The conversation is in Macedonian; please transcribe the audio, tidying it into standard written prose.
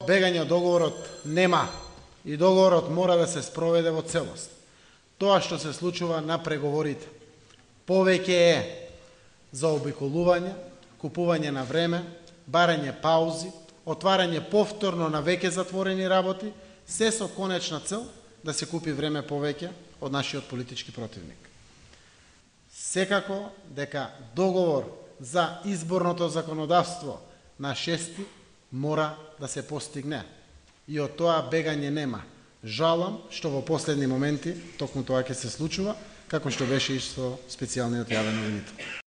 Бегање од договорот нема и договорот мора да се спроведе во целост. Тоа што се случува на преговорите повеќе е заобиколување, купување на време, барање паузи, отварање повторно на веќе затворени работи, се со конечна цел да се купи време повеќе од нашиот политички противник. Секако дека договор за изборното законодавство на 6 мора да се постигне. И од тоа бегање нема. Жалам што во последни моменти токму тоа ќе се случува, како што беше и со специјалниот јавен обвинител.